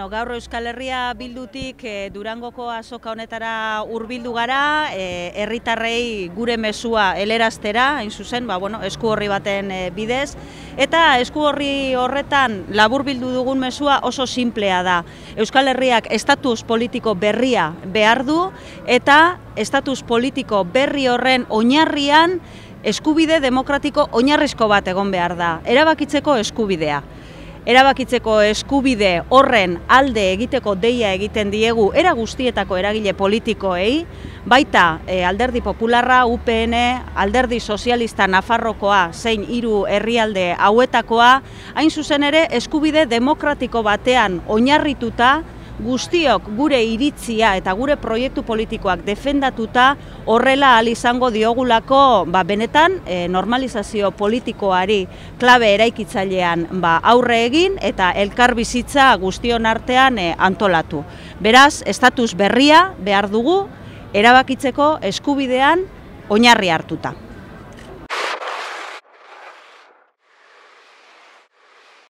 Gaur Euskal Herria Bildutik Durangoko azoka honetara hurbildu gara, herritarrei gure mezua heleraztera, hain zuzen, esku horri baten bidez, eta esku horri horretan laburbildu dugun mezua oso sinplea da. Euskal Herriak estatus politiko berria behar du, eta estatus politiko berri horren oinarrian eskubide demokratiko oinarrizko bat egon behar da, erabakitzeko eskubidea. Erabakitzeko eskubide horren alde egiteko deia egiten diegu era guztietako eragile politikoei, baita Alderdi Popularra, UPN, Alderdi Sozialista Nafarrokoa zein 3 herrialde hauetakoa, hain zuzen ere eskubide demokratiko batean oinarrituta, guztiok gure iritzia eta gure proiektu politikoak defendatuta horrela ahal izango diogulako benetan normalizazio politikoari klabe eraikitzailean aurre egin eta elkarbizitza guztion artean antolatu. Beraz, estatus berria behar dugu erabakitzeko eskubidean oinarri hartuta.